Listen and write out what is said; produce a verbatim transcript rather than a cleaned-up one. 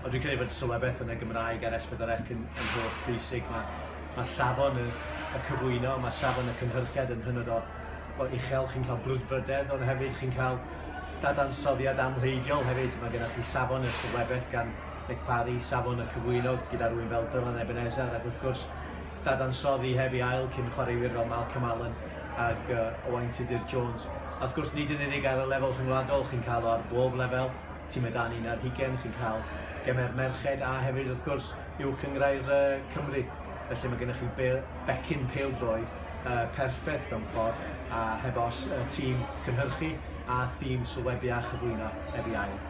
Ond dwi'n credu fod sylwebaeth yn y Gymraeg ar S pedwar C yn, yn holl bwysig. Mae, mae safon y, y cyflwyno, mae safon y cynhyrchiad yn hynod o, o uchel. Chi'n cael brwdfrydedd, ond hefyd chi'n cael dadansoddiad amhleidiol hefyd. Mae gennych chi safon y sylwebaeth gan Nic Parry, safon y cyflwyno gyda rhywun fel Dylan Ebenezer, ac wrth gwrs dadansoddi heb ei ail cyn chwaraewyr fel Malcolm Allen ac uh, Owain Tudur Jones. A wrth gwrs, nid yn unig ar y lefel rhyngwladol, chi'n cael o ar bob lefel, tîmau dan un ar hugain, chi'n cael gemau'r merched a hefyd wrth gwrs uwch gynghrair uh, Cymru. Felly mae gennych chi be- becyn pêl-droed uh, perffaith mewn ffordd, a heb os uh, tîm cynhyrchu a thîm sylwebu a chyflwyno heb ei ail.